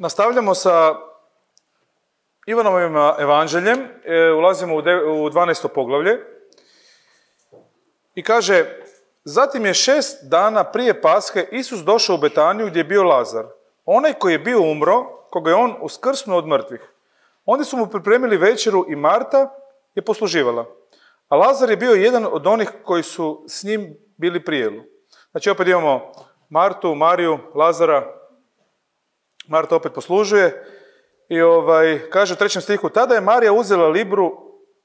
Nastavljamo sa Ivanovim evanđeljem, ulazimo u 12. poglavlje i kaže: Zatim je 6 dana prije Pashe Isus došao u Betaniju gdje je bio Lazar, onaj koji je bio umro, koga je on uskrsnuo od mrtvih. Oni su mu pripremili večeru i Marta je posluživala, a Lazar je bio jedan od onih koji su s njim bili pri jelu. Znači opet imamo Martu, Mariju, Lazara. Marta opet poslužuje i kaže u 3. stihu: Tada je Marija uzela libru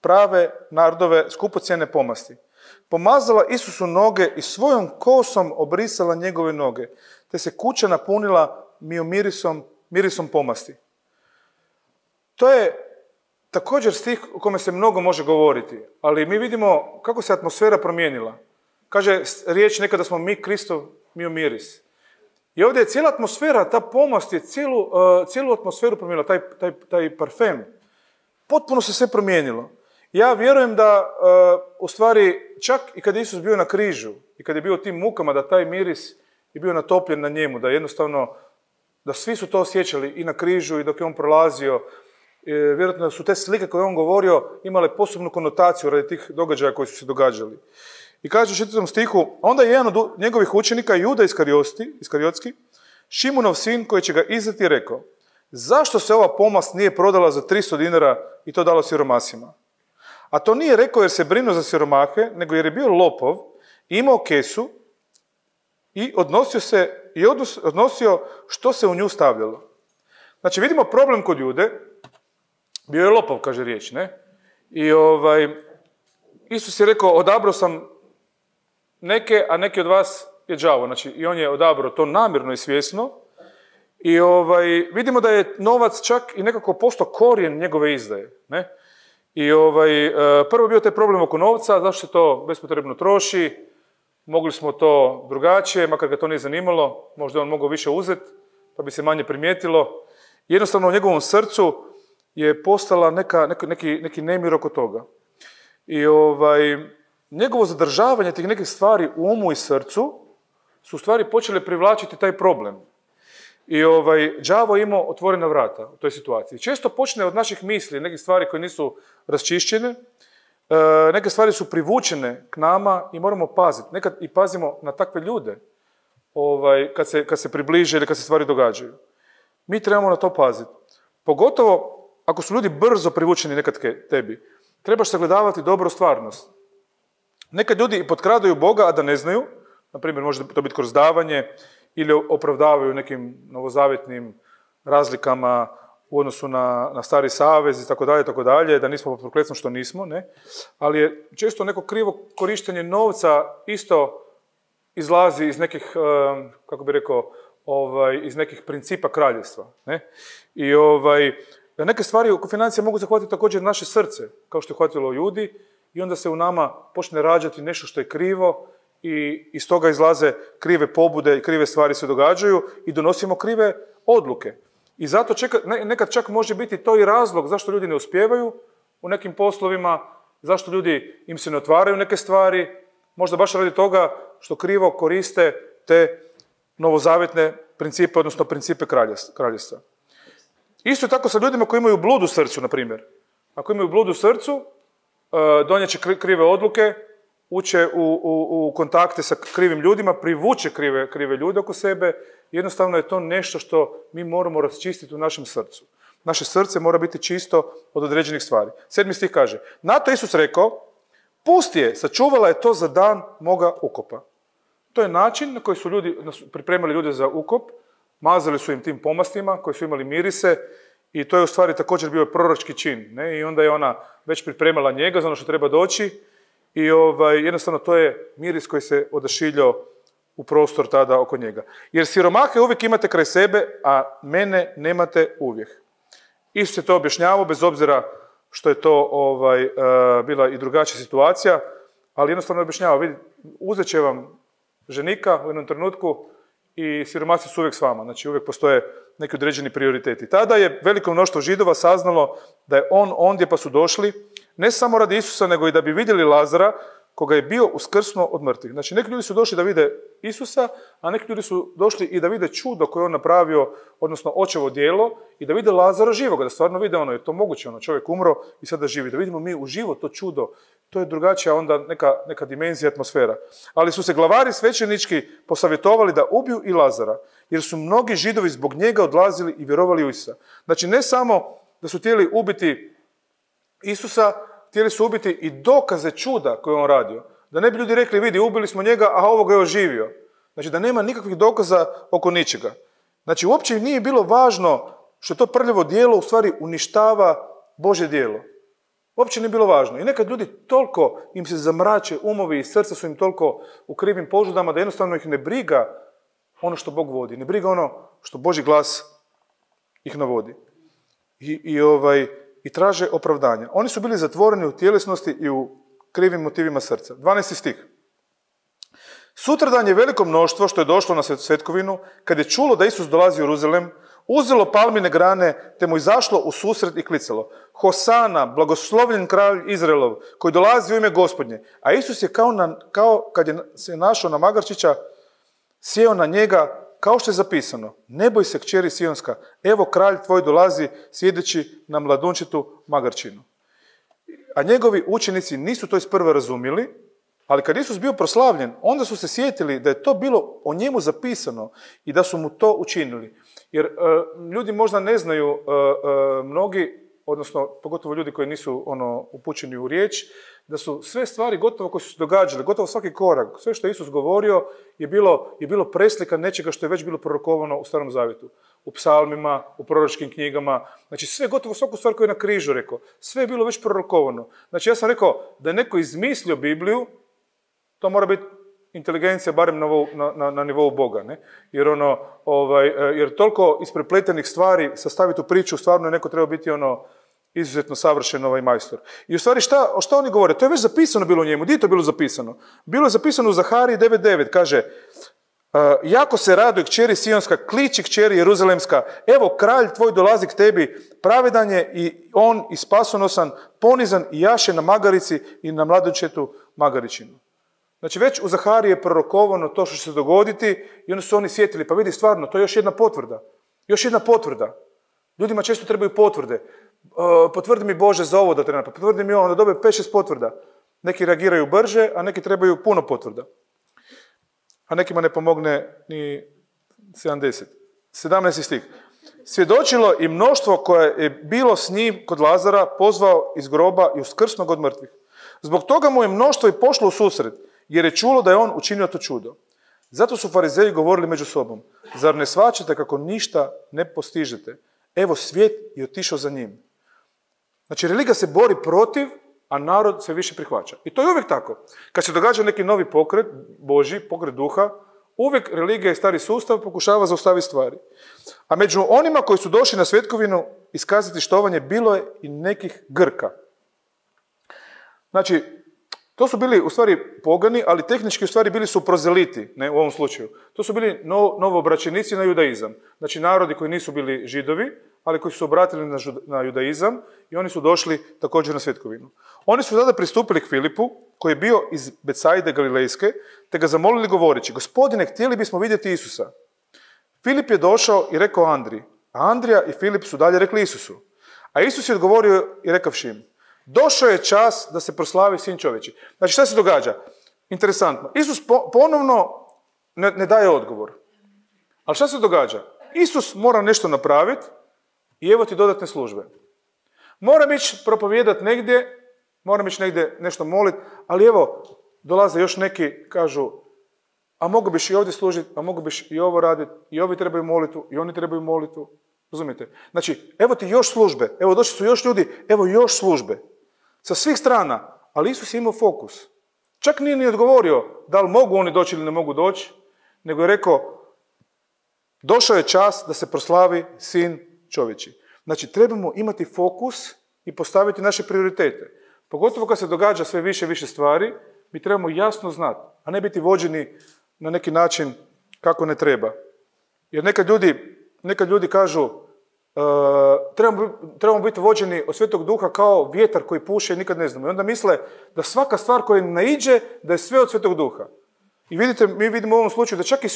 prave nardove skupocjene pomasti, pomazala Isusu noge i svojom kosom obrisala njegove noge, te se kuća napunila mirisom pomasti. To je također stih o kome se mnogo može govoriti, ali mi vidimo kako se atmosfera promijenila. Kaže riječ nekada smo mi Kristov miris. I ovdje je cijela atmosfera, ta pomast je cijelu atmosferu promijenila, taj parfem. Potpuno se sve promijenilo. Ja vjerujem da, u stvari, čak i kad je Isus bio na križu i kad je bio u tim mukama, da taj miris je bio natopljen na njemu, da jednostavno, da svi su to osjećali i na križu i dok je on prolazio. Vjerojatno su te slike koje je on govorio imale posebnu konotaciju radi tih događaja koji su se događali. I kaže u 4. stihu: Onda je jedan od njegovih učenika, Juda Iskariotski, Šimunov sin, koji će ga izdati, rekao: Zašto se ova pomast nije prodala za 300 dinara i to dalo siromasima? A to nije rekao jer se brinuo za siromahe, nego jer je bio lopov, imao kesu i odnosio što se u nju stavljalo. Znači vidimo problem kod Jude. Bio je lopov, kaže riječ, ne? I Isus je rekao: odabrao sam neke, a neki od vas je đavo. Znači i on je odabrao to namjerno i svjesno. I vidimo da je novac čak i nekako postao korijen njegove izdaje, ne? I prvo je bio taj problem oko novca, zašto se to bespotrebno troši, mogli smo to drugačije, makar ga to nije zanimalo, možda je on mogao više uzeti, pa bi se manje primijetilo. Jednostavno u njegovom srcu je postala neki nemir oko toga. I njegovo zadržavanje tih nekih stvari u umu i srcu su u stvari počele privlačiti taj problem. I đavo je imao otvorena vrata u toj situaciji. Često počne od naših misli, nekih stvari koje nisu raščišćene, neke stvari su privučene k nama i moramo paziti. Nekad i pazimo na takve ljude kad se približe ili kad se stvari događaju. Mi trebamo na to paziti. Pogotovo ako su ljudi brzo privučeni nekad k tebi, trebaš sagledavati dobro stvarnost. Nekad ljudi i potkradaju Boga, a da ne znaju, na primjer može to biti kroz davanje, ili opravdavaju nekim novozavjetnim razlikama u odnosu na stari savez i tako dalje, da nismo pod prokletstvom što nismo, ne? Ali je često neko krivo korištenje novca isto izlazi iz nekih, kako bi rekao, iz nekih principa kraljevstva, ne? I neke stvari oko financija mogu zahvatiti također naše srce, kao što je hvatilo ljudi, i onda se u nama počne rađati nešto što je krivo i iz toga izlaze krive pobude i krive stvari se događaju i donosimo krive odluke. I zato nekad čak može biti to i razlog zašto ljudi ne uspijevaju u nekim poslovima, zašto ljudi im se ne otvaraju neke stvari, možda baš radi toga što krivo koriste te novozavjetne principe, odnosno principe kraljevstva. Isto tako sa ljudima koji imaju blud u srcu, na primjer. Ako imaju blud u srcu, donijet će krive odluke, uče u kontakte sa krivim ljudima, privuče krive ljude oko sebe. Jednostavno je to nešto što mi moramo raščistiti u našem srcu. Naše srce mora biti čisto od određenih stvari. 7. stih kaže: Na to Isus rekao: Pusti je, sačuvala je to za dan moga ukopa. To je način na koji su pripremali ljude za ukop, mazali su im tim pomastima koji su imali mirise i to je u stvari također bio proročki čin, ne? I onda je ona već pripremala njega za ono što treba doći i jednostavno to je miris koji se odašiljao u prostor tada oko njega. Jer siromahe uvijek imate kraj sebe, a mene nemate uvijek. Isus je to objašnjavao, bez obzira što je to bila i drugačija situacija, ali jednostavno objašnjavao: vidi, uzet će vam ženika u jednom trenutku i siromasi su uvijek s vama. Znači uvijek postoje neki određeni prioriteti. Tada je veliko mnoštvo Židova saznalo da je on ondje, pa su došli, ne samo radi Isusa, nego i da bi vidjeli Lazara, koga je bio uskrsnuo od mrtvih. Znači, neki ljudi su došli da vide Isusa, a neki ljudi su došli i da vide čudo koje on napravio, odnosno očevo djelo, i da vide Lazara živoga, da stvarno vide je to moguće, čovjek umro i sada živi. Da vidimo mi uživo to čudo, to je drugačija onda neka dimenzija, atmosfera. Ali su se glavari svećenički posavjetovali da ubiju i Lazara, jer su mnogi Židovi zbog njega odlazili i vjerovali u Isusa. Znači, ne samo da su htjeli ubiti Isusa, htjeli su ubiti i dokaze čuda koje on radio. Da ne bi ljudi rekli, vidi, ubili smo njega, a ovoga je oživio. Znači, da nema nikakvih dokaza oko ničega. Znači, uopće nije bilo važno što to prljavo djelo u stvari uništava Božje djelo. Uopće nije bilo važno. I nekad ljudi toliko im se zamrače umovi i srca su im toliko u krivim požudama da jednostavno ih ne briga ono što Bog vodi. Ne briga ono što Božji glas ih navodi. I traže opravdanja. Oni su bili zatvoreni u tjelesnosti i u krivim motivima srca. 12. stih. Sutradan je veliko mnoštvo što je došlo na svetkovinu, kad je čulo da Isus dolazi u Jeruzalem, uzelo palmine grane, te mu izašlo u susret i klicalo: Hosana, blagoslovljen kralj Izraelov, koji dolazi u ime Gospodnje. A Isus je kao kad je se našao na magarčića, sjeo na njega, kao što je zapisano: ne boj se, kćeri Sionska, evo kralj tvoj dolazi sjedeći na mladunčitu magarčinu. A njegovi učenici nisu to isprva razumjeli, ali kad Isus bio proslavljen, onda su se sjetili da je to bilo o njemu zapisano i da su mu to učinili. Jer ljudi možda ne znaju, mnogi, odnosno pogotovo ljudi koji nisu upućeni u riječ, da su sve stvari gotovo koje su se događale, gotovo svaki korak, sve što je Isus govorio je bilo preslika nečega što je već bilo prorokovano u Starom Zavjetu. U psalmima, u proročkim knjigama, znači sve, gotovo svaku stvar koju je na križu rekao, sve je bilo već prorokovano. Znači ja sam rekao da je neko izmislio Bibliju, to mora biti inteligencija barem na nivou Boga, ne? Jer toliko isprepletenih stvari sastaviti u priču, stvarno je neko treba biti izuzetno savršen majstor. I u stvari šta oni govore? To je već zapisano bilo u njemu. Gdje je to bilo zapisano? Bilo je zapisano u Zahariji 9.9, kaže: jako se raduje kćeri Sionska, kliči kćeri Jeruzalemska, evo kralj tvoj dolazi k tebi, pravedan je i on i spasonosan, ponizan i jaše na magarici i na mladunčetu magaričinu. Znači već u Zahariji je prorokovano to što će se dogoditi i onda su oni sjetili, pa vidi stvarno, to je još jedna potvrda. Još jedna potvrda. Ljudima često trebaju potvrde. Potvrdi mi Bože za ovo da treba, potvrdi mi ovo, onda dobe 5-6 potvrda. Neki reagiraju brže, a neki trebaju puno potvrda. A nekima ne pomogne ni 70. 17. stih. Svjedočilo i mnoštvo koje je bilo s njim kod Lazara, pozvao iz groba i uskrsnuo ga od mrtvih. Zbog toga mu je mnoštvo i pošlo u susret, jer je čulo da je on učinio to čudo. Zato su farizeji govorili među sobom: zar ne shvaćate kako ništa ne postižete? Evo, svijet je otišao za njim. Znači, religija se bori protiv, a narod sve više prihvaća. I to je uvijek tako. Kad se događa neki novi pokret, Božji, pokret duha, uvijek religija i stari sustav pokušava zaustaviti stvari. A među onima koji su došli na svetkovinu iskazati štovanje, bilo je i nekih Grka. Znači, to su bili u stvari pogani, ali tehnički u stvari bili su prozeliti, ne, u ovom slučaju. To su bili novoobraćenici na judaizam. Znači, narodi koji nisu bili Židovi, ali koji su se obratili na judaizam i oni su došli također na svetkovinu. Oni su tada pristupili k Filipu, koji je bio iz Becajde Galilejske, te ga zamolili govoreći: Gospodine, htjeli bismo vidjeti Isusa. Filip je došao i rekao Andriji, a Andrija i Filip su dalje rekli Isusu. A Isus je odgovorio i rekavši im: došao je čas da se proslavi Sin čovječji. Znači, šta se događa? Interesantno. Isus ponovno ne daje odgovor. Ali šta se događa? Isus mora nešto napraviti i evo ti dodatne službe. Moram ići propovijedati negdje, moram ići negdje nešto moliti, ali evo, dolaze još neki, kažu: a mogu biš i ovdje služiti, a mogu biš i ovo raditi, i ovi trebaju molitu, i oni trebaju molitu. Razumijete? Znači, evo ti još službe, evo došli su još ljudi, evo još službe. Sa svih strana, ali Isus je imao fokus. Čak nije ni odgovorio da li mogu oni doći ili ne mogu doći, nego je rekao: došao je čas da se proslavi Sin čovječji. Znači, trebamo imati fokus i postaviti naše prioritete. Pogotovo kad se događa sve više i više stvari, mi trebamo jasno znati, a ne biti vođeni na neki način kako ne treba. Jer nekad ljudi kažu: trebamo biti vođeni od Svetog Duha kao vjetar koji puše i nikad ne znamo. I onda misle da svaka stvar koja naiđe, da je sve od Svetog Duha. I vidite, mi vidimo u ovom slučaju da čak i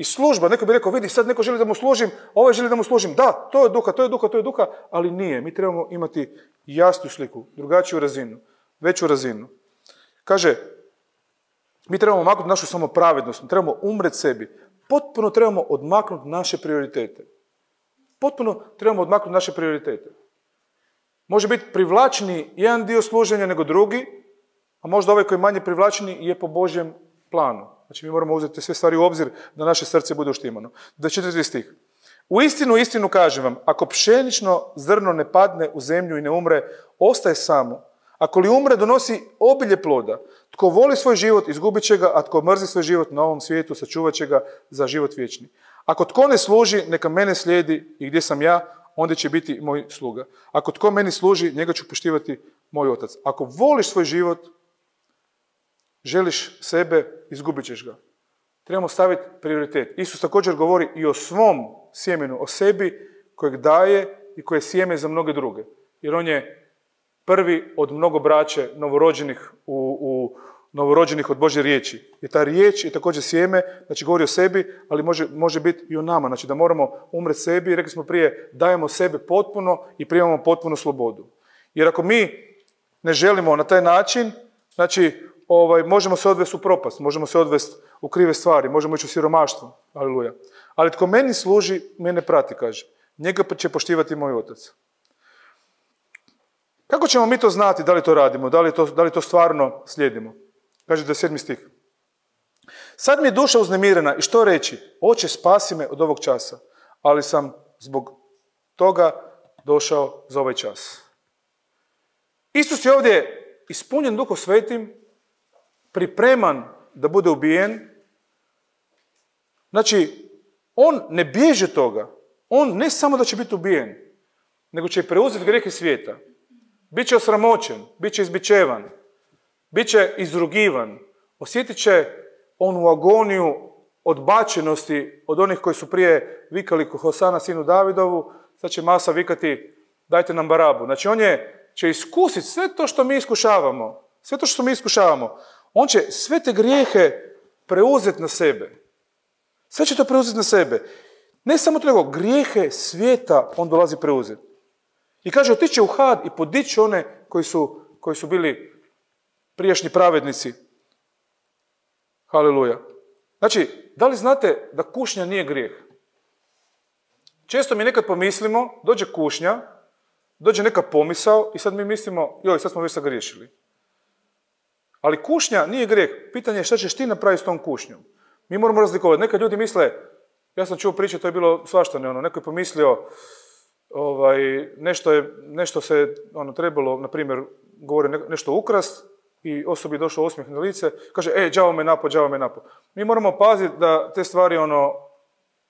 služba, neko bi rekao, vidi, sad neko želi da mu služim, ovaj želi da mu služim. Da, to je duha, to je duha, to je duha, ali nije. Mi trebamo imati jasnu sliku, drugačiju razinu, veću razinu. Kaže, mi trebamo maknuti našu samopravednost, trebamo umreti sebi. Potpuno trebamo odmaknuti naše prioritete. Potpuno trebamo odmaknuti naše prioritete. Može biti privlačniji jedan dio služenja nego drugi, a možda ovaj koji je manje privlačniji je po Božjem planu. Znači mi moramo uzeti sve stvari u obzir da naše srce bude uštimano. 24. stih. U istinu kažem vam, ako pšenično zrno ne padne u zemlju i ne umre, ostaje samo. Ako li umre, donosi obilje ploda. Tko voli svoj život, izgubit će ga, a tko mrzi svoj život na ovom svijetu, sačuvat će ga za život vječni. Ako tko ne služi, neka mene slijedi i gdje sam ja, onda će biti moj sluga. Ako tko meni služi, njega ću poštivati moj otac. Ako voliš svoj život, želiš sebe, izgubit ćeš ga. Trebamo staviti prioritet. Isus također govori i o svom sjemenu, o sebi kojeg daje i koje je sjeme za mnoge druge. Jer on je prvi od mnogo braće novorođenih od Božje riječi. I ta riječ je također sjeme, znači govori o sebi, ali može biti i o nama. Znači da moramo umreti sebi, rekli smo prije, dajemo sebe potpuno i primamo potpunu slobodu. Jer ako mi ne želimo na taj način, znači možemo se odvesti u propast, možemo se odvesti u krive stvari, možemo ići u siromaštvo, aleluja. Ali tko meni služi, mene prati, kaže. Njega će poštivati moj otac. Kako ćemo mi to znati, da li to radimo, da li to stvarno slijedimo? Kaže 27. stih. Sad mi je duša uznemirena i što reći? Oče, spasi me od ovog časa, ali sam zbog toga došao za ovaj čas. Isus je ovdje ispunjen Duhom Svetim, pripreman da bude ubijen. Znači, on ne bježi od toga. On ne samo da će biti ubijen, nego će preuzeti grijehe svijeta. Biće osramoćen, biće izbičevan, biće izrugivan, osjetit će onu agoniju odbačenosti od onih koji su prije vikali Hosana sinu Davidovu, sad će masa vikati dajte nam Barabu. Znači on će iskusiti sve to što mi iskušavamo. On će sve te grijehe preuzeti na sebe. Sve će to preuzeti na sebe. Ne samo to, nego grijehe svijeta on dolazi preuzeti. I kaže, otići će u had i podići one koji su bili prijašnji pravednici. Haleluja. Znači, da li znate da kušnja nije grijeh? Često mi nekad pomislimo, dođe kušnja, dođe neka pomisao i sad mi mislimo, joj, sad smo već sagriješili. Ali kušnja nije grijeh. Pitanje je šta ćeš ti napraviti s tom kušnjom. Mi moramo razlikovati. Nekad ljudi misle, ja sam čuo priče, to je bilo svaštane, neko je pomislio, nešto se trebalo, na primjer, govori nešto ukrast i osobi je došao osmijeh na lice, kaže, đavo me napo. Mi moramo paziti da te stvari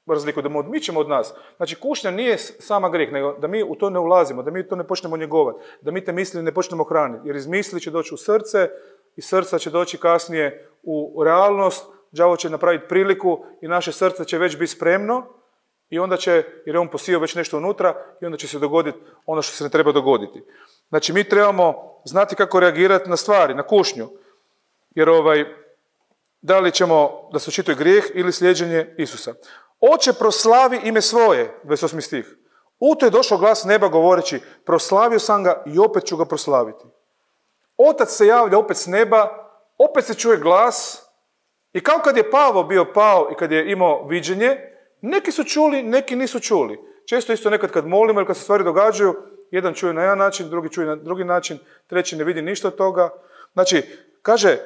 razliku, da mu odmičemo od nas. Znači, kušnja nije sama grijeh, nego da mi u to ne ulazimo, da mi to ne počnemo njegovati, da mi te misli ne počnemo hraniti, jer iz misli će doći u srce, iz srca će doći kasnije u realnost, đavo će napraviti priliku i naše srce će već biti spremno i onda će, jer je on posijao već nešto unutra, i onda će se dogoditi ono što se ne treba dogoditi. Znači, mi trebamo znati kako reagirati na stvari, na kušnju. Jer da li ćemo da se očituje grijeh ili slijeđenje Isusa. Oče, proslavi ime svoje, 28. stih. U to je došao glas neba govoreći, proslavio sam ga i opet ću ga proslaviti. Otac se javlja opet s neba, opet se čuje glas i kao kad je Pavo bio pao i kad je imao viđenje, neki su čuli, neki nisu čuli. Često isto nekad kad molimo ili kad se stvari događaju, jedan čuje na jedan način, drugi čuje na drugi način, treći ne vidi ništa od toga. Znači, kaže,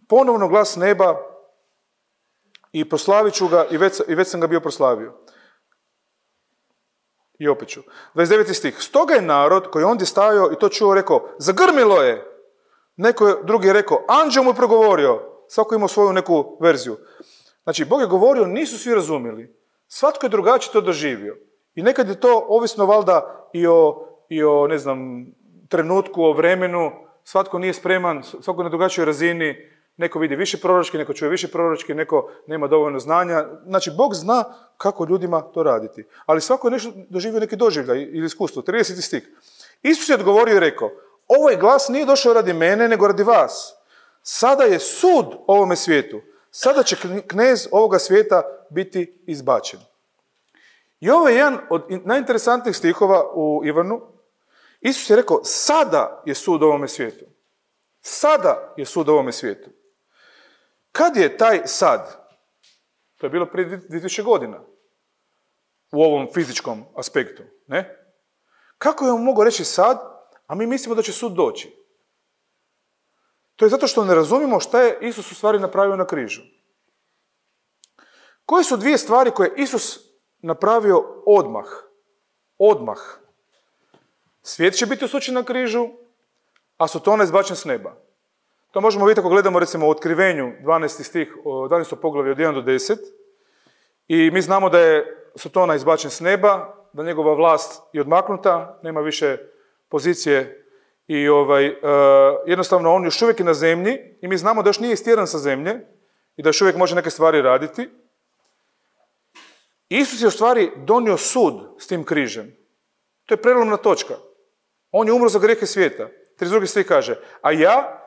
ponovno glas neba i proslavit ću ga i već sam ga bio proslavio. I opet ću. 29. stih. Stoga je narod koji je ondje stajao i to čuo rekao, zagrmilo je. Neko drugi je rekao, anđeo mu je progovorio. Svako imao svoju neku verziju. Znači, Bog je govorio, nisu svi razumjeli. Svatko je drugačije to doživio. I nekad je to ovisno valjda i o ne znam, trenutku, o vremenu. Svatko nije spreman, svatko na drugačijoj razini. Neko vidi više proročki, neko čuje više proročki, neko nema dovoljno znanja. Znači, Bog zna kako ljudima to raditi. Ali svako je nešto doživio neki doživljaj ili iskustvo. 30. stih. Isus je odgovorio i rekao, ovaj glas nije došao radi mene, nego radi vas. Sada je sud ovome svijetu. Sada će knez ovoga svijeta biti izbačen. I ovo je jedan od najinteresantnijih stihova u Ivanu. Isus je rekao, sada je sud ovome svijetu. Sada je sud ovome svijetu. Kad je taj sad? To je bilo prije 2000 godina. U ovom fizičkom aspektu. Ne? Kako je on mogao reći sad, a mi mislimo da će sud doći? To je zato što ne razumijemo šta je Isus u stvari napravio na križu. Koje su dvije stvari koje je Isus napravio odmah? Odmah. Svijet će biti osuđen na križu, a Sotona izbačen s neba. To možemo vidjeti ako gledamo recimo u Otkrivenju 12. stih, 12. poglavlje od 1 do 10. I mi znamo da je Sotona izbačen s neba, da njegova vlast je odmaknuta, nema više pozicije i jednostavno on još uvijek je na zemlji i mi znamo da još nije istjeran sa zemlje i da još uvijek može neke stvari raditi. Isus je u stvari donio sud s tim križem. To je prelomna točka. On je umro za grijehe svijeta. 32. stih kaže, a ja,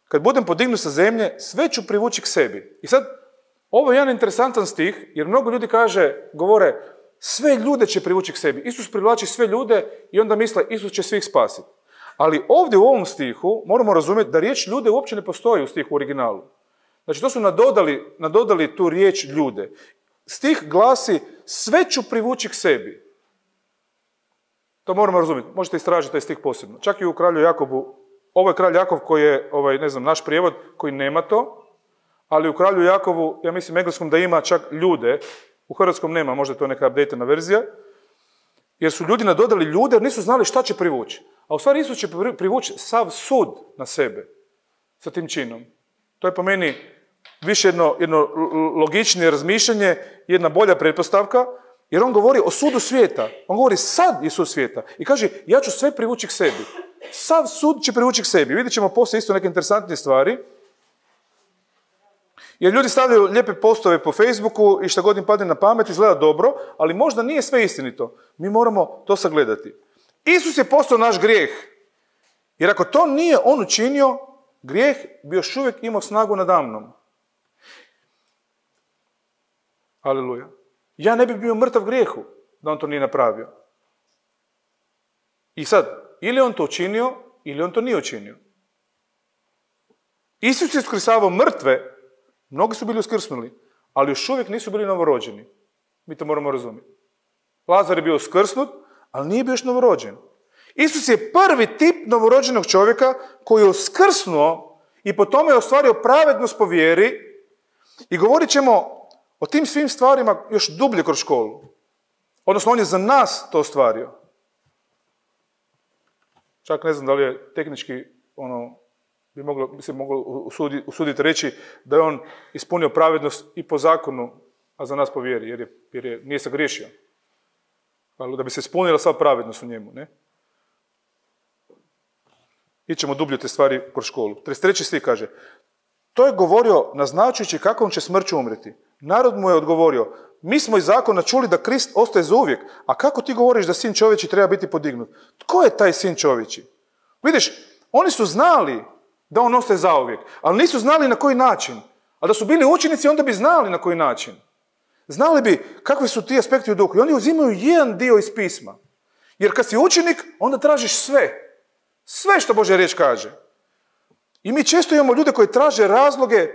kad budem podignut sa zemlje, sve ću privući k sebi. I sad, ovo je jedan interesantan stih, jer mnogo ljudi govore, sve ljude će privući k sebi. Isus privlači sve ljude i onda misle, Isus će svih spasiti. Ali ovdje u ovom stihu moramo razumjeti da riječ ljude uopće ne postoji u stihu u originalu. Znači, to su nadodali tu riječ ljude. Stih glasi, sve ću privući k sebi. To moramo razumjeti. Možete istražiti taj stih posebno. Čak i u kralju Jakobu, ovo je kralj Jakov koji je, naš prijevod, koji nema to, ali u kralju Jakovu, ja mislim, engleskom da ima čak ljude, u hrvatskom nema, možda je to neka updateana verzija, jer su ljudi nadodali ljude, jer nisu znali šta će privući. A u stvari Isus će privući sav sud na sebe sa tim činom. To je po meni više jedno logičnije razmišljanje, jedna bolja pretpostavka, jer on govori o sudu svijeta. On govori sad je sud svijeta. I kaže, ja ću sve privući k sebi. Sav sud će privući k sebi. Vidjet ćemo poslije isto neke interesantne stvari. Jer ljudi stavljaju lijepe postove po Facebooku i šta god im padne na pamet, izgleda dobro, ali možda nije sve istinito. Mi moramo to sagledati. Isus je postao naš grijeh. Jer ako to nije on učinio, grijeh bi još uvijek imao snagu nadamnom. Aleluja. Ja ne bi bio mrtav grijehu da on to nije napravio. I sad, ili on to učinio, ili on to nije učinio. Isus je uskrsavao mrtve, mnogi su bili uskrsnuli, ali još uvijek nisu bili novorođeni. Mi to moramo razumjeti. Lazar je bio uskrsnut, ali nije bio još novorođen. Isus je prvi tip novorođenog čovjeka koji je uskrsnuo i po tome je ostvario pravednost po vjeri i govorit ćemo o tim svim stvarima još dublje kroz školu. Odnosno, on je za nas to ostvario. Čak ne znam da li je tehnički, bi se moglo usuditi reći da je on ispunio pravednost i po zakonu, a za nas po vjeri, jer nije se griješio. Ali da bi se ispunila sva pravednost u njemu, ne? Ićemo dublje te stvari kroz školu. 33. stih kaže, to je govorio naznačujući kakvom će smrću umreti. Narod mu je odgovorio, mi smo iz zakona čuli da Krist ostaje zauvijek, a kako ti govoriš da sin čovječji treba biti podignut? Tko je taj sin čovječji? Vidiš, oni su znali da on ostaje zauvijek, ali nisu znali na koji način. A da su bili učenici, onda bi znali na koji način. Znali bi kakvi su ti aspekti u duhu. I oni uzimaju jedan dio iz pisma. Jer kad si učenik, onda tražiš sve. Sve što Božja riječ kaže. I mi često imamo ljude koji traže razloge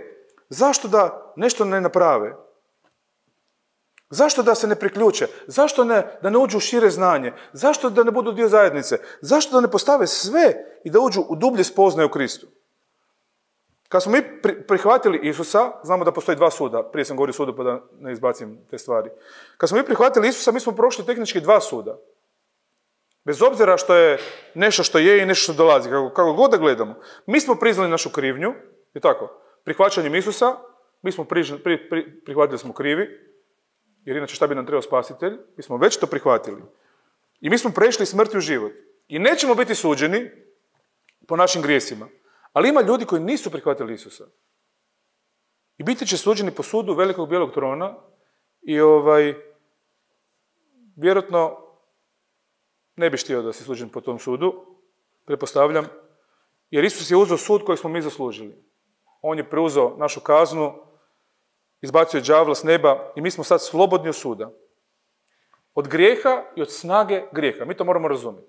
zašto da nešto ne naprave. Zašto da se ne priključe? Zašto da ne uđu u šire znanje? Zašto da ne budu dio zajednice? Zašto da ne postave sve i da uđu u dublje spoznaje u Kristu? Kad smo mi prihvatili Isusa, znamo da postoji dva suda, prije sam govorio sudu pa da ne izbacim te stvari. Kad smo mi prihvatili Isusa, mi smo prošli tehnički dva suda. Bez obzira što je nešto što je i nešto što dolazi, kako god da gledamo. Mi smo priznali našu krivnju, je tako, prihvaćanjem Isusa, mi smo prihvatili smo krivi, jer inače šta bi nam trebao spasitelj, mi smo već to prihvatili. I mi smo prešli smrti u život. I nećemo biti suđeni po našim grijesima. Ali ima ljudi koji nisu prihvatili Isusa. I biti će suđeni po sudu velikog bijelog trona i vjerojatno ne bi htio da si suđen po tom sudu, pretpostavljam, jer Isus je uzeo sud koji smo mi zaslužili. On je preuzeo našu kaznu, izbacio je đavla s neba i mi smo sad slobodni od suda. Od grijeha i od snage grijeha. Mi to moramo razumjeti.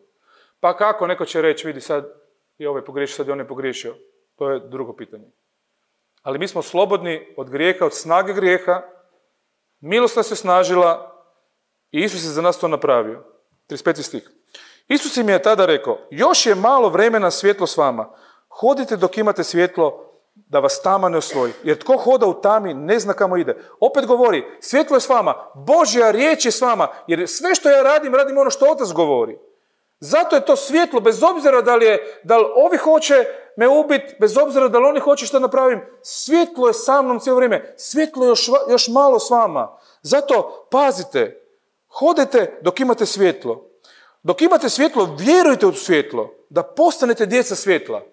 Pa kako neko će reći, vidi sad je ovaj pogriješio, sad je on je pogriješio. To je drugo pitanje. Ali mi smo slobodni od grijeha, od snage grijeha. Milost nas je snažila i Isus je za nas to napravio. 35. stih. Isus im je tada rekao, još je malo vremena svjetlo s vama. Hodite dok imate svjetlo, da vas tama ne osvoji. Jer tko hoda u tami ne zna kamo ide. Opet govori, svjetlo je s vama, Božja riječ je s vama, jer sve što ja radim ono što Otac govori. Zato je to svjetlo, bez obzira da li ovi hoće me ubiti, bez obzira da li oni hoće što napravim, svjetlo je sa mnom cijelo vrijeme, svjetlo je još malo s vama. Zato pazite, hodite dok imate svjetlo. Dok imate svjetlo, vjerujte u svjetlo, da postanete djeca svjetla.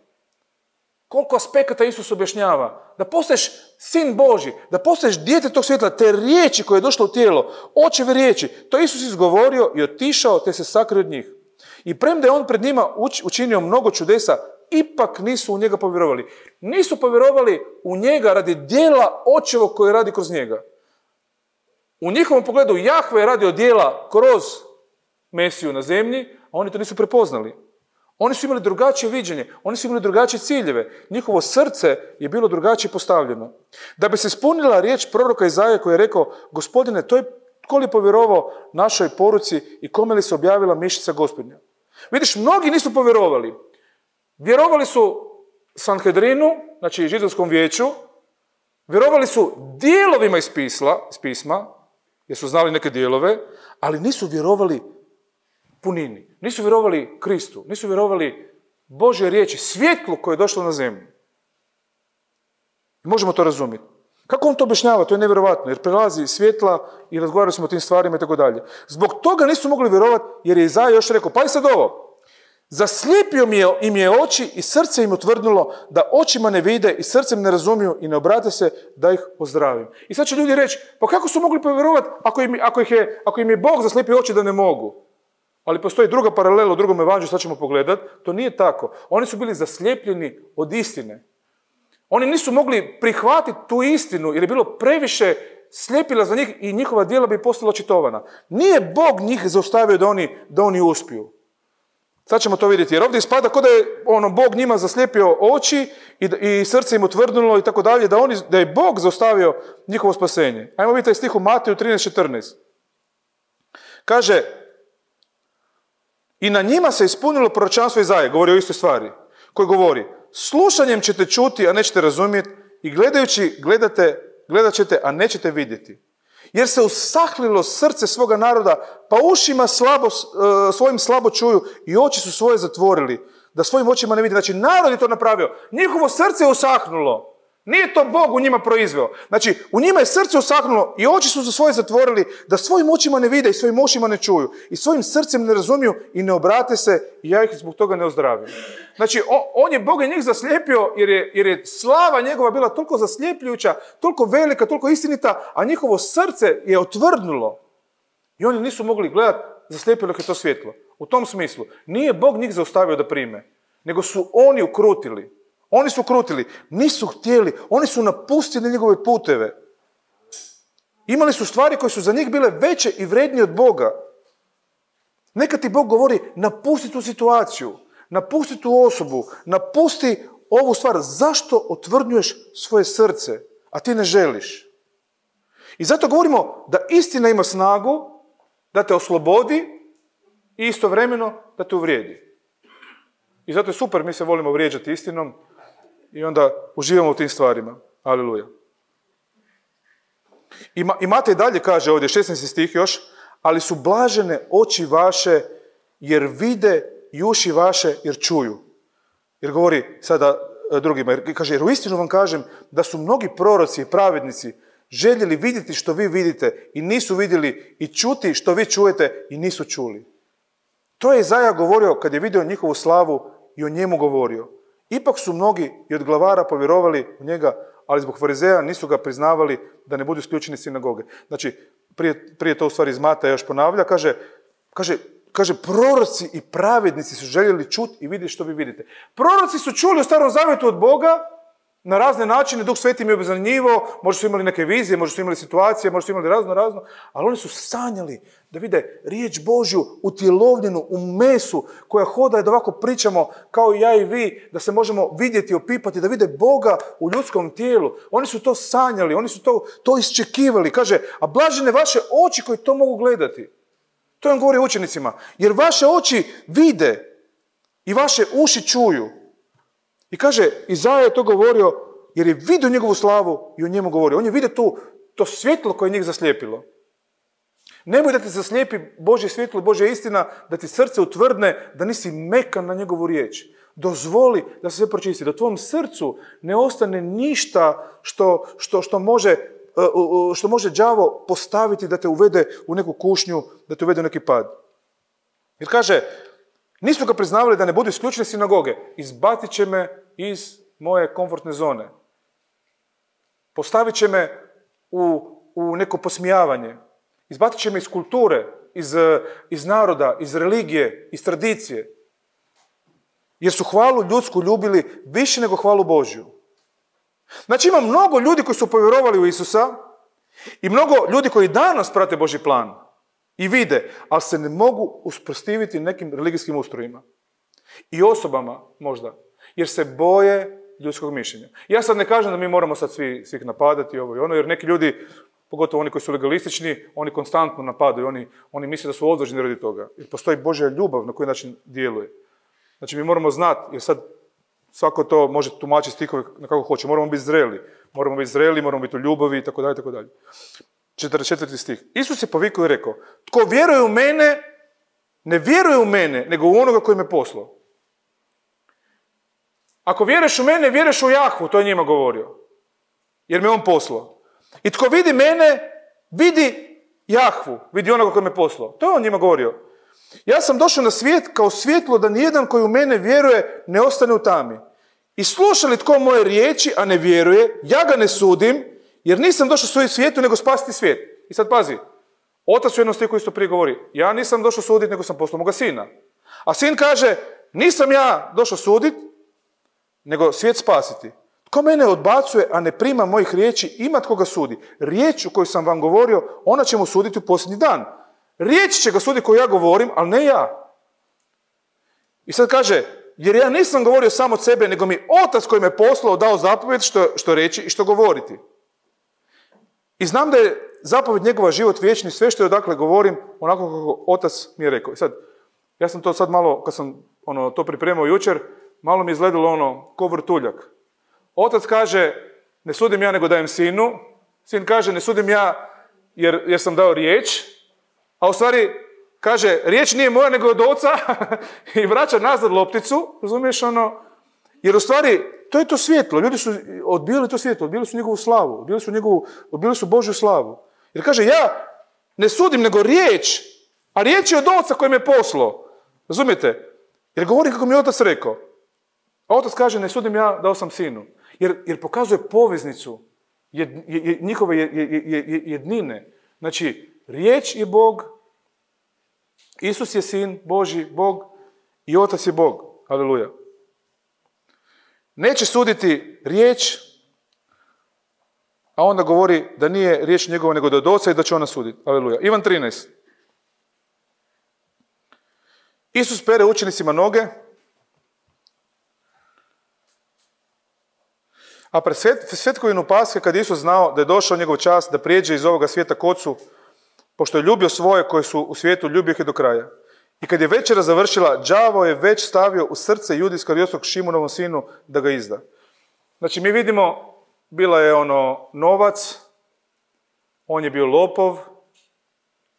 Koliko aspekata Isus objašnjava. Da postaješ sin Božji, da postaješ dijete tog svjetla, te riječi koje je došlo u tijelo, očeve riječi, to Isus izgovorio i otišao te se sakrio od njih. I premda je on pred njima učinio mnogo čudesa, ipak nisu u njega povjerovali. Nisu povjerovali u njega radi djela očevog koje radi kroz njega. U njihovom pogledu Jahve je radio djela kroz Mesiju na zemlji, a oni to nisu prepoznali. Oni su imali drugačije viđenje, oni su imali drugačije ciljeve. Njihovo srce je bilo drugačije postavljeno. Da bi se ispunila riječ proroka Izaije koji je rekao, Gospodine, tko li povjerovao našoj poruci i kome li se objavila mišica Gospodnja? Vidiš, mnogi nisu povjerovali. Vjerovali su Sanhedrinu, znači židovskom vijeću, vjerovali su dijelovima iz pisma, jer su znali neke dijelove, ali nisu vjerovali punini. Nisu vjerovali Kristu, nisu vjerovali Božje riječi, svjetlu koje je došlo na zemlju. Možemo to razumjeti. Kako on to objašnjava? To je nevjerovatno, jer prelazi svjetla i razgovarali smo o tim stvarima i tako dalje. Zbog toga nisu mogli vjerovati, jer je Izaja još rekao, pa i sad ovo, zaslijepio im je oči i srce im utvrdilo da očima ne vide i srcem ne razumiju i ne obrate se da ih ozdravim. I sad će ljudi reći, pa kako su mogli povjerovati ako im je Bog zaslijepio oči da ne mogu? Ali postoji druga paralela u drugom evanđelju, sad ćemo pogledati. To nije tako. Oni su bili zaslijepljeni od istine. Oni nisu mogli prihvatiti tu istinu jer je bilo previše sljepila za njih i njihova djela bi postala očitovana. Nije Bog njih zaustavio da oni uspiju. Sad ćemo to vidjeti. Jer ovdje ispada kao da je Bog njima zaslijepio oči i srce im utvrdilo i tako dalje, da je Bog zaustavio njihovo spasenje. Ajmo vidjeti taj stih u Mateju 13:14. Kaže, i na njima se ispunilo proročanstvo Izaje, govori o istoj stvari, koji govori, slušanjem ćete čuti, a nećete razumjeti, i gledajući gledat ćete, a nećete vidjeti. Jer se usahlilo srce svoga naroda, pa ušima svojim slabo čuju i oči su svoje zatvorili, da svojim očima ne vidi. Znači, narod je to napravio. Njihovo srce je usahnulo. Nije to Bog u njima proizveo. Znači, u njima je srce usahnulo i oči su svoje zatvorili, da svojim očima ne vide i svojim ušima ne čuju. I svojim srcem ne razumiju i ne obrate se i ja ih zbog toga ne ozdravim. Znači, Bog je njih zaslijepio jer je slava njegova bila toliko zaslijepljujuća, toliko velika, toliko istinita, a njihovo srce je otvrdnulo. I oni nisu mogli gledati, zaslijepilo ih je to svjetlo. U tom smislu, nije Bog njih zaustavio da prime, nego su oni ukrutili. Oni su krutili, nisu htjeli, oni su napustili njegove puteve. Imali su stvari koje su za njih bile veće i vrednije od Boga. Nekad ti Bog govori, napusti tu situaciju, napusti tu osobu, napusti ovu stvar. Zašto otvrdnjuješ svoje srce, a ti ne želiš? I zato govorimo da istina ima snagu da te oslobodi i istovremeno da te uvrijedi. I zato je super, mi se volimo vrijeđati istinom i onda uživamo u tim stvarima. Aleluja. I Matej dalje kaže ovdje, 16. stih još, ali su blažene oči vaše jer vide i uši vaše jer čuju. Jer govori sada drugima, jer kaže, jer uistinu vam kažem da su mnogi proroci i pravednici željeli vidjeti što vi vidite i nisu vidjeli i čuti što vi čujete i nisu čuli. To je Izaja govorio kad je vidio njihovu slavu i o njemu govorio. Ipak su mnogi i od glavara povjerovali u njega, ali zbog farizeja nisu ga priznavali da ne budu isključeni iz sinagoge. Znači, prije to u stvari iz Mataja još ponavlja, kaže, proroci i pravednici su željeli čuti i vidjeti što vi vidite. Proroci su čuli u Starom Zavjetu od Boga na razne načine, Duh Sveti im je obznanjivao, možda su imali neke vizije, možda su imali situacije, možda su imali razno, ali oni su sanjali da vide riječ Božju utjelovljenu u mesu koja hoda, da ovako pričamo kao i ja i vi, da se možemo vidjeti, opipati, da vide Boga u ljudskom tijelu. Oni su to sanjali, oni su to iščekivali. Kaže, a blažene vaše oči koji to mogu gledati. To on govori učenicima. Jer vaše oči vide i vaše uši čuju. I kaže, Izaja je to govorio jer je vidio njegovu slavu i o njemu govorio. On je vidio to svjetlo koje je njih zaslijepilo. Nemoj da ti zaslijepi Božje svjetlo, Božja istina, da ti srce utvrdne, da nisi mekan na njegovu riječ. Dozvoli da se sve pročisti, da tvom srcu ne ostane ništa što može đavo postaviti da te uvede u neku kušnju, da te uvede u neki pad. Jer kaže, nisu ga priznavali da ne budu isključene sinagoge. Izbacit će me iz moje komfortne zone. Postavit će me u neko posmijavanje. Izbacit će me iz kulture, iz naroda, iz religije, iz tradicije. Jer su hvalu ljudsku ljubili više nego hvalu Božju. Znači ima mnogo ljudi koji su povjerovali u Isusa i mnogo ljudi koji danas prate Božji plan i vide, ali se ne mogu usprotiviti nekim religijskim ustrojima. I osobama možda, jer se boje ljudskog mišljenja. Ja sad ne kažem da mi moramo sad svih napadati ovo i ono, jer neki ljudi, pogotovo oni koji su legalistični, oni konstantno napadaju, oni misle da su odvažni radi toga. Jer postoji Božja ljubav na koji način djeluje. Znači mi moramo znati, jer sad svako to može tumačiti stihove na kako hoće. Moramo biti zreli, moramo biti u ljubavi, itd., itd. 44. stih. Isus je povikao i rekao, tko vjeruje u mene, ne vjeruje u mene, nego u onoga koji me poslao. Ako vjeruješ u mene, vjeruješ u Jahvu, to je njima govorio. Jer me on poslao. I tko vidi mene, vidi Jahvu, vidi onoga koji me poslao. To je on njima govorio. Ja sam došao na svijet kao svjetlo da nijedan koji u mene vjeruje ne ostane u tami. I sluša li tko moje riječi, a ne vjeruje, ja ga ne sudim, jer nisam došao svoju svijetu, nego spasiti svijet. I sad pazi, otac u jednom stihu isto prije govori, ja nisam došao suditi, nego sam poslao moga sina. A sin kaže, nisam ja došao suditi, nego svijet spasiti. Tko mene odbacuje, a ne prima mojih riječi, ima tko ga sudi. Riječ u kojoj sam vam govorio, ona će mu suditi u posljednji dan. Riječ će ga suditi koju ja govorim, ali ne ja. I sad kaže, jer ja nisam govorio samo od sebe, nego mi otac koji me poslao dao zapovjed što reći i što govoriti. I znam da je zapovjed njegova život vječni, sve što je odakle govorim, onako kako otac mi je rekao. I sad, ja sam to sad malo, kad sam to pripremao jučer, malo mi je izgledalo ko vrtuljak. Otac kaže, ne sudim ja nego dajem sinu. Sin kaže, ne sudim ja jer sam dao riječ. A u stvari kaže, riječ nije moja nego od oca i vraća nazad lopticu, razumiješ jer u stvari to je to svjetlo. Ljudi su odbili to svjetlo, odbili su njegovu slavu, odbili su Božju slavu. Jer kaže, ja ne sudim nego riječ, a riječ je od oca koji me poslao. Razumijete? Jer govorim kako mi je otac rekao. A otac kaže, ne sudim ja, dao sam sinu. Jer pokazuje poveznicu njihove jednine. Znači, riječ je Bog, Isus je sin Božji, Bog i otac je Bog. Aleluja. Neće suditi riječ, a onda govori da nije riječ njegova nego da od oca i da će ona suditi. Aleluja. Ivan 13. Isus pere učenicima noge, a pred svetkovinu Paske, kad je Isus znao da je došao njegov čas da prijeđe iz ovoga svijeta k Ocu, pošto je ljubio svoje koje su u svijetu, ljubio ih je do kraja. I kad je večera završila, đavo je već stavio u srce Jude Iskariotskog, Šimonovom sinu, da ga izda. Znači, mi vidimo, bila je novac, on je bio lopov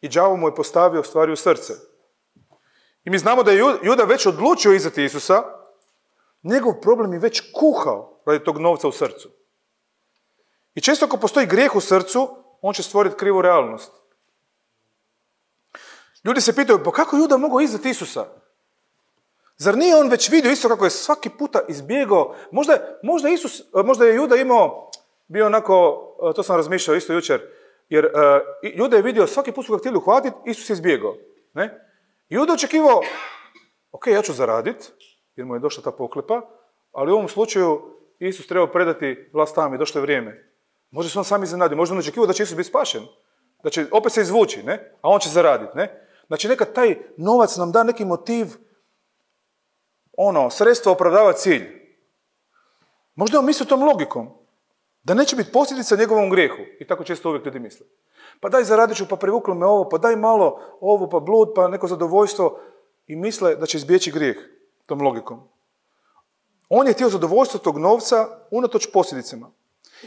i đavo mu je postavio stvari u srce. I mi znamo da je Juda već odlučio izdati Isusa, njegov problem je već kuhao radi tog novca u srcu. I često ako postoji grijeh u srcu, on će stvoriti krivu realnost. Ljudi se pitaju, pa kako Juda mogao izdati Isusa? Zar nije on već vidio isto kako je svaki puta izbjegao? Možda je Juda imao bio onako, to sam razmišljao isto jučer, jer Juda je vidio svaki put su ga htjeli uhvatiti, Isus je izbjegao. Ne? Juda očekivao, ok, ja ću zaraditi, jer mu je došla ta poklepa, ali u ovom slučaju Isus treba predati vlast tamo i došlo je vrijeme. Možda se on sam iznenadio, možda on očekivao da će Isus biti spašen, da će opet se izvući, ne? A on će zaraditi. Ne? Znači nekad taj novac nam da neki motiv, sredstvo opravdava cilj. Možda on misli tom logikom, da neće biti posljedica njegovom grijehu. I tako često uvijek ljudi misle. Pa daj zaradit ću, pa privuklo me ovo, pa daj malo ovo, pa blud, pa neko zadovoljstvo. I misle da će izbjeći grijeh tom logikom. On je htio zadovoljstvo tog novca unatoč posljedicama.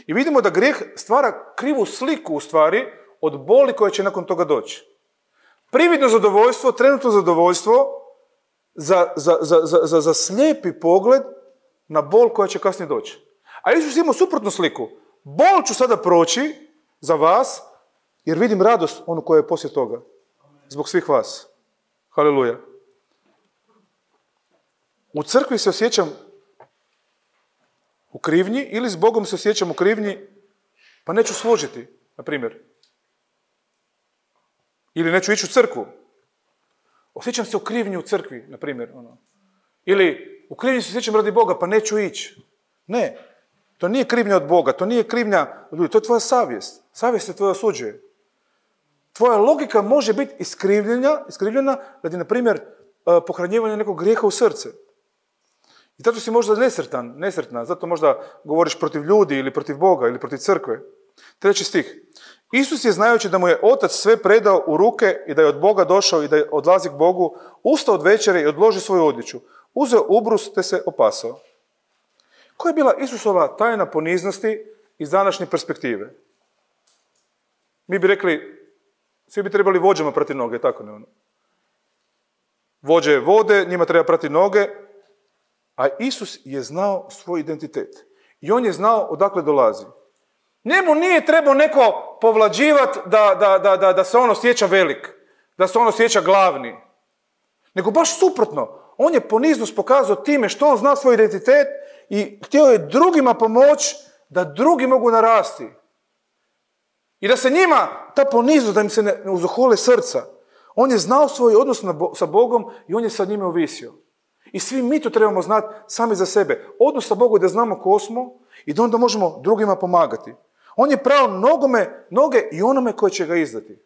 I vidimo da grijeh stvara krivu sliku u stvari od boli koja će nakon toga doći. Prividno zadovoljstvo, trenutno zadovoljstvo za slijepi pogled na bol koja će kasnije doći. A Isus ima suprotnu sliku. Bol ću sada proći za vas, jer vidim radost onu koja je poslije toga. Zbog svih vas. Haleluja. U crkvi se osjećam u krivnji ili s Bogom se osjećam u krivnji, pa neću služiti, na primjer. Ili neću ići u crkvu. Osjećam se u krivnji u crkvi, na primjer. Ili u krivnji se osjećam radi Boga, pa neću ići. Ne, to nije krivnja od Boga, to nije krivnja od ljudi, to je tvoja savjest. Savjest se tvoja osuđuje. Tvoja logika može biti iskrivljena radi, na primjer, pohranjivanja nekog grijeha u srce. I zato si možda nesretna, zato možda govoriš protiv ljudi ili protiv Boga ili protiv crkve. 3. stih. Isus je, znajući da mu je Otac sve predao u ruke i da je od Boga došao i da odlazi k Bogu, ustao od večere i odložio svoju odjeću. Uzeo ubrus te se opasao. Koja je bila Isusova tajna poniznosti iz današnje perspektive? Mi bi rekli, svi bi trebali vođama prati noge, tako ne ono. Vođe vode, njima treba prati noge, a Isus je znao svoj identitet. I on je znao odakle dolazi. Njemu nije trebao neko povlađivati da se on osjeća velik, da se on osjeća glavni. Nego baš suprotno. On je poniznost pokazao time što on zna svoj identitet i htio je drugima pomoći da drugi mogu narasti. I da se njima ta poniznost, da im se ne uzohole srca. On je znao svoj odnos sa Bogom i on je sa njime ovisio. I svi mi to trebamo znati sami za sebe. Odnos sa Bogom je da znamo ko smo i da onda možemo drugima pomagati. On je prao noge i onome koji će ga izdati.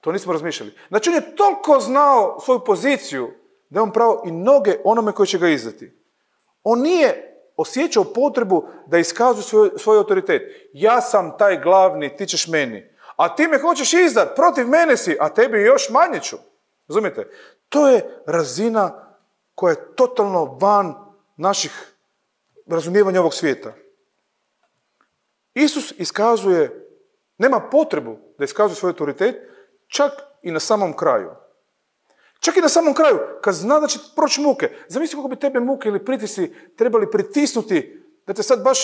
To nismo razmišljali. Znači on je toliko znao svoju poziciju da je on prao i noge onome koji će ga izdati. On nije osjećao potrebu da iskazuje svoj autoritet. Ja sam taj glavni, ti ćeš meni. A ti me hoćeš izdati, protiv mene si, a tebi još manje ću. Razumijete? To je razina koja je totalno van naših razumijevanja ovog svijeta. Isus nema potrebu da iskazuje svoj autoritet, čak i na samom kraju. Čak i na samom kraju, kad zna da će proći muke. Zamisli kako bi tebe muke ili pritisci trebali pritisnuti, da te sad baš,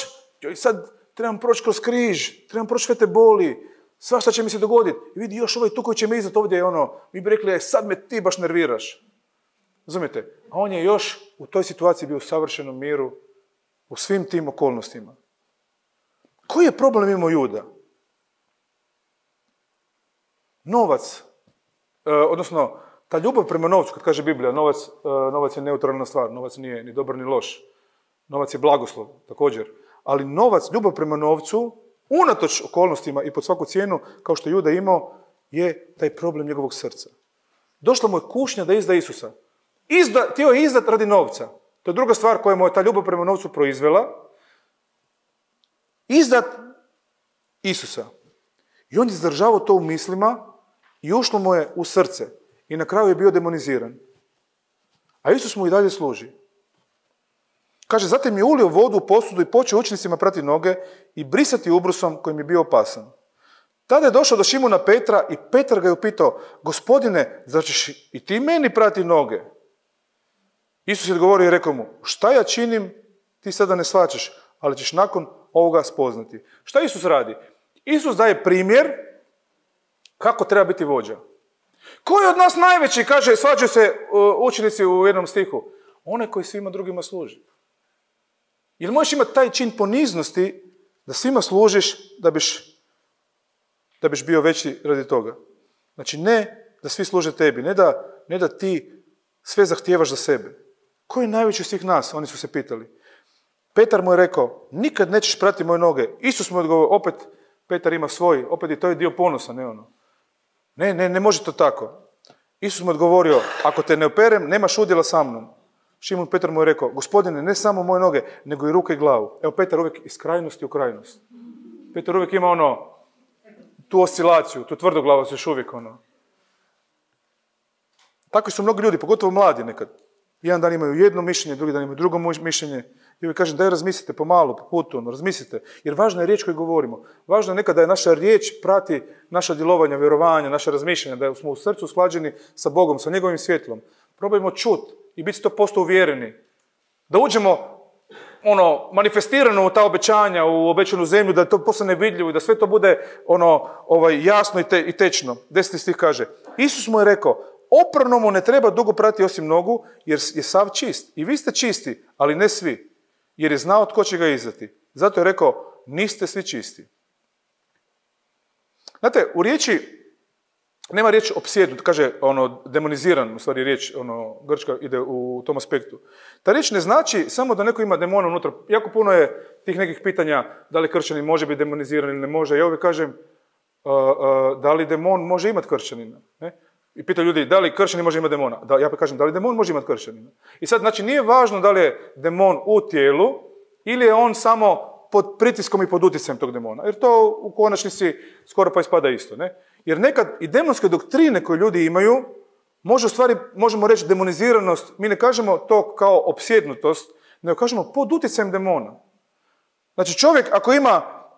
sad trebam proći kroz križ, trebam proći sve te boli, svašta će mi se dogoditi. I vidi, još ovaj tu koji će me izdati ovdje je mi bi rekli, sad me ti baš nerviraš. Razumijete? A on je još u toj situaciji bio u savršenom miru, u svim tim okolnostima. Koji je problem imao Juda? Novac, odnosno ta ljubav prema novcu, kad kaže Biblija, novac je neutralna stvar, novac nije ni dobar ni loš. Novac je blagoslov, također. Ali ljubav prema novcu, unatoč okolnostima i pod svaku cijenu, kao što je Juda imao, je taj problem njegovog srca. Došla mu je kušnja da izda Isusa. Htio je izdat radi novca. To je druga stvar koja mu je ta ljubav prema novcu proizvela. Izdat Isusa. I on je zadržavao to u mislima i ušlo mu je u srce. I na kraju je bio demoniziran. A Isus mu i dalje služi. Kaže, zatim je ulio vodu u posudu i počeo učenicima prati noge i brisati ubrusom kojim je bio opasan. Tada je došao do Šimuna Petra i Petar ga je upitao, Gospodine, zar ćeš i ti meni prati noge? Isus je odgovorio i rekao mu, šta ja činim, ti sada ne shvaćaš, ali ćeš nakon ovoga spoznati. Šta Isus radi? Isus daje primjer kako treba biti vođa. Ko je od nas najveći, kaže, svađaju se učenici u jednom stihu? Onaj koji svima drugima služi. Jer možeš imati taj čin poniznosti Da svima služiš da biš bio veći radi toga. Znači ne da svi služe tebi, ne da ti sve zahtijevaš za sebe. Ko je najveći od svih nas? Oni su se pitali. Petar mu je rekao, nikad nećeš prati moje noge. Isus mu je odgovorio, opet Petar ima svoj, opet i to je dio ponosa, ne ono. Ne može to tako. Isus mu je odgovorio, ako te ne operem, nemaš udjela sa mnom. Šimon Petar mu je rekao, Gospodine, ne samo moje noge, nego i ruke i glavu. Evo, Petar uvijek iz krajnosti u krajnost. Petar uvijek ima tu oscilaciju, tu tvrdoglavost još uvijek Takvi su mnogi ljudi, pogotovo mladi nekad. Jedan dan imaju jedno mišljenje, drugi dan imaju drugo mišljenje. I uvijek kažem, daj razmislite pomalo, po putu, razmislite. Jer važna je riječ koju govorimo. Važno je nekada da je naša riječ prati naša djelovanja, vjerovanja, naša razmišljanja, da smo u srcu usklađeni sa Bogom, sa njegovim svjetlom. Probajmo čut i biti 100% uvjereni. Da uđemo manifestirano u ta obećanja, u obećanu zemlju, da to postane vidljivo i da sve to bude jasno i tečno. 10. stih kaže, Isus mu je rekao, opranomu ne treba dugo prati osim nogu, jer je sav čist. I vi ste čisti, ali ne svi, jer je znao tko će ga izdati. Zato je rekao, niste svi čisti. Znate, u riječi nema riječ opsjednut, kaže demoniziran, u stvari riječ, grčka ide u tom aspektu. Ta riječ ne znači samo da neko ima demona unutra. Jako puno je tih nekih pitanja, da li kršćanin može biti demoniziran ili ne može. Ja uvijek kažem, da li demon može imati kršćanina? Ne? I pitaju ljudi, da li kršćanin može imati demona? Ja pa kažem, da li demon može imati kršćanina? I sad, znači, nije važno da li je demon u tijelu ili je on samo pod pritiskom i pod utjecajem tog demona. Jer to u konačnici skoro pa ispada isto. Ne? Jer nekad i demonske doktrine koje ljudi imaju, možemo reći demoniziranost, mi ne kažemo to kao opsjednutost, nego kažemo pod utjecajem demona. Znači čovjek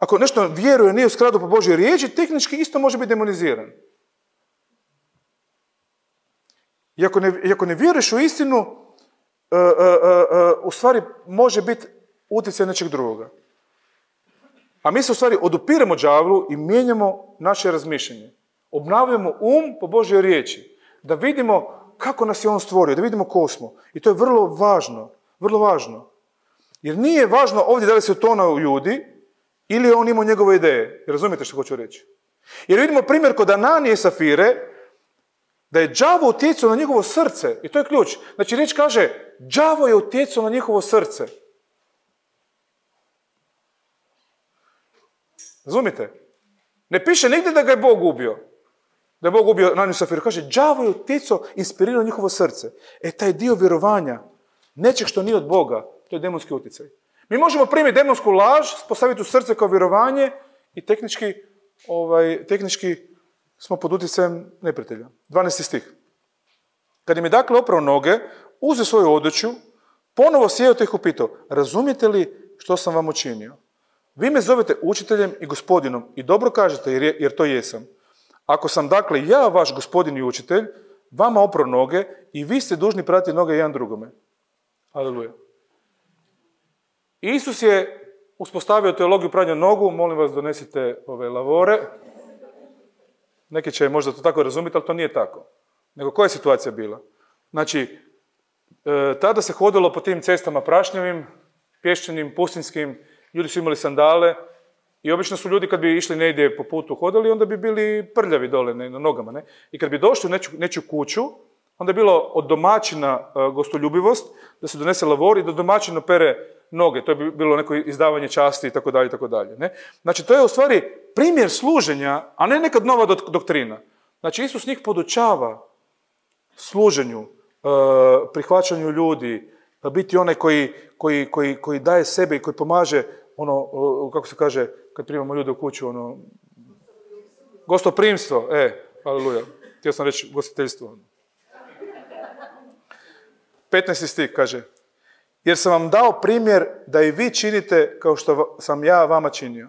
ako nešto vjeruje, nije u skladu po Božjoj riječi, tehnički isto može biti demoniziran. I ako ne vjeruješ u istinu, u stvari može biti utjecaj nečeg drugoga. A mi se u stvari odupiremo đavlu i mijenjamo naše razmišljanje. Obnavljamo po Božjoj riječi. Da vidimo kako nas je on stvorio, da vidimo ko smo. I to je vrlo važno. Vrlo važno. Jer nije važno ovdje da li se utonao ljudi ili je on imao njegove ideje. Razumijete što hoću reći? Jer vidimo primjer kod Ananije i Safire, da je đavo utjecao na njegovo srce. I to je ključ. Znači riječ kaže, đavo je utjecao na njihovo srce. Razumite? Ne piše nigdje da ga je Bog ubio. Da je Bog ubio Ananiju i Safiru. Kaže, đavo je utjecao, inspirirao njihovo srce. Taj dio vjerovanja, nečeg što nije od Boga, to je demonski utjecaj. Mi možemo primiti demonsku laž, postaviti u srce kao vjerovanje i tehnički smo pod utjecajem neprijatelja. 12. stih. Kad im je dakle oprao noge, uzeo svoju odjeću, ponovo sjeo te ih upitao, razumijete li što sam vam učinio? Vi me zovete učiteljem i gospodinom i dobro kažete jer to jesam. Ako sam dakle ja vaš gospodin i učitelj, vama oprao noge i vi ste dužni pratiti noge jedan drugome. Aleluja. Isus je uspostavio teologiju pranja nogu, molim vas donesite ove lavore. Neki će možda to tako razumjeti, ali to nije tako. Nego koja je situacija bila? Znači, tada se hodilo po tim cestama prašnjavim, pješčanim, pustinskim, ljudi su imali sandale i obično su ljudi kad bi išli negdje po putu hodali, onda bi bili prljavi dole na nogama. Ne? I kad bi došli u nečiju kuću, onda je bilo od domaćina gostoljubivost, da se donese lavor i da domaćin opere noge. To je bilo neko izdavanje časti itd. Ne? Znači, to je u stvari primjer služenja, a ne nekad nova doktrina. Znači, Isus njih podučava služenju, prihvaćanju ljudi, biti onaj koji daje sebe i koji pomaže, kako se kaže, kad primamo ljude u kuću, gostoprimstvo, aleluja, htio sam reći gostiteljstvo. 15. stih kaže, jer sam vam dao primjer da i vi činite kao što sam ja vama činio.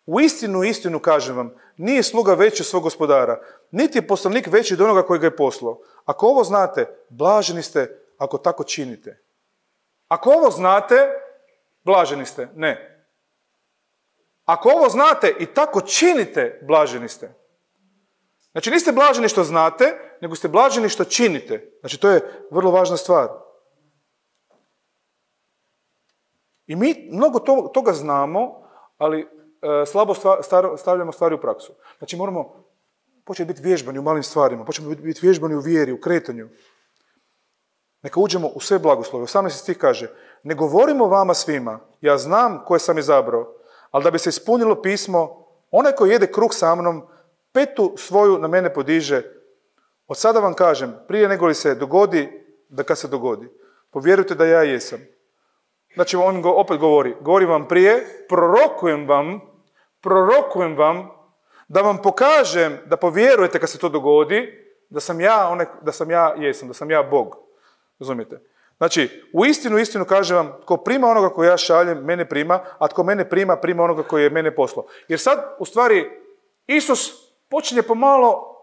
U istinu kažem vam, nije sluga veći od svog gospodara, niti je poslanik veći od onoga koji ga je poslao. Ako ovo znate, blaženi ste ako tako činite. Ako ovo znate, blaženi ste. Ne. Ako ovo znate i tako činite, blaženi ste. Znači, niste blaženi što znate, nego ste blaženi što činite. Znači, to je vrlo važna stvar. I mi mnogo toga znamo, ali slabo stavljamo stvari u praksu. Znači moramo početi biti vježbani u malim stvarima, početi biti vježbani u vjeri, u kretanju. Neka uđemo u sve blagoslove. 18. stih kaže, ne govorimo vama svima, ja znam koje sam izabrao, ali da bi se ispunilo pismo, onaj koji jede kruh sa mnom, petu svoju na mene podiže. Od sada vam kažem, prije nego li se dogodi, da kad se dogodi, povjerujte da ja jesam. Znači on opet govori vam prije, prorokujem vam, da vam pokažem, da povjerujete kad se to dogodi, da sam ja jesam, da sam ja Bog. Razumijete? Znači, u istinu kažem vam, tko prima onoga koji ja šaljem, mene prima, a tko mene prima, prima onoga koji je mene poslao. Jer sad, u stvari, Isus počinje pomalo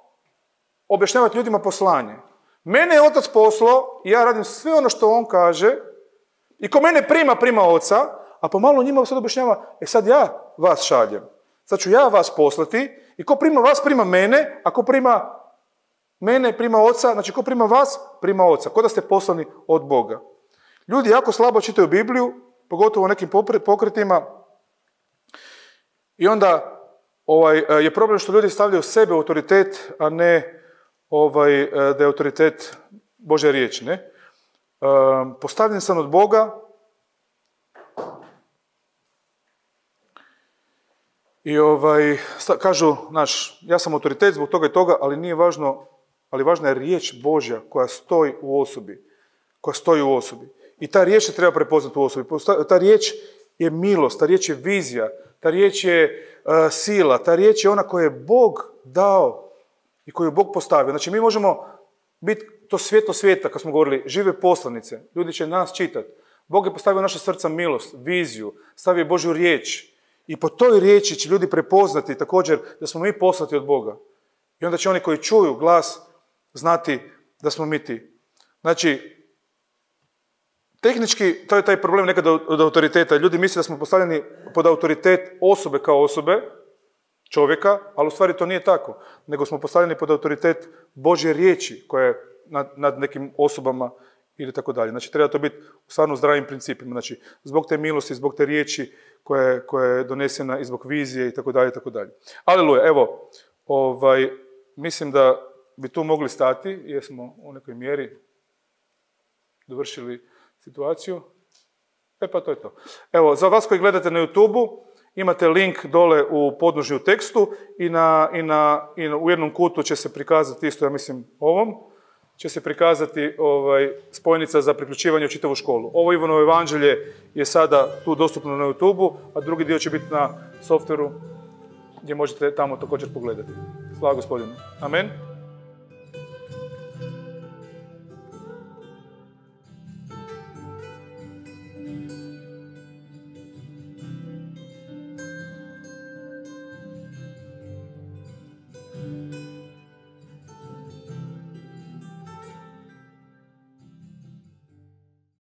objašnjavati ljudima poslanje. Mene je Otac poslao i ja radim sve ono što on kaže i ko mene prima Oca, a pomalo njima sad objašnjava, sad ja vas šaljem. Sad ću ja vas poslati i ko prima vas, prima mene, a ko prima mene, prima Oca, znači ko prima vas, prima Oca. Ko da ste poslani od Boga. Ljudi jako slabo čitaju Bibliju, pogotovo u nekim pokretima, i onda je problem što ljudi stavljaju sebe u autoritet, a ne da je autoritet Božja riječ. Ne? Postavljen sam od Boga i kažu, ja sam autoritet zbog toga i toga, ali nije važno, ali važna je riječ Božja koja stoji u osobi. I ta riječ se treba prepoznati u osobi. Ta riječ je milost, ta riječ je vizija, ta riječ je sila, ta riječ je ona koju je Bog dao i koju je Bog postavio. Znači mi možemo biti to svjetlo svijeta, kad smo govorili, žive poslanice. Ljudi će nas čitati. Bog je postavio u naše srca milost, viziju, stavio Božju riječ. I po toj riječi će ljudi prepoznati također da smo mi poslati od Boga. I onda će oni koji čuju glas znati da smo mi ti. Znači, tehnički, to je taj problem nekada od autoriteta. Ljudi misle da smo postavljeni pod autoritet osobe kao osobe, čovjeka, ali u stvari to nije tako. Nego smo postavljeni pod autoritet Božje riječi koja je nad nekim osobama ili tako dalje. Znači, treba to biti u stvarno zdravim principima. Znači, zbog te milosti, zbog te riječi koja je donesena i zbog vizije i tako dalje, i tako dalje. Aleluja, evo, mislim da bi tu mogli stati, jer smo u nekoj mjeri dovršili situaciju. Pa to je to. Evo, za vas koji gledate na YouTube-u, imate link dole u podnožju tekstu i u jednom kutu će se prikazati isto, ja mislim, ovom, će se prikazati spojnica za priključivanje u čitavu školu. Ovo Ivanovo evanđelje je sada tu dostupno na YouTube-u, a drugi dio će biti na softveru gdje možete tamo također pogledati. Slava Gospodinu. Amen.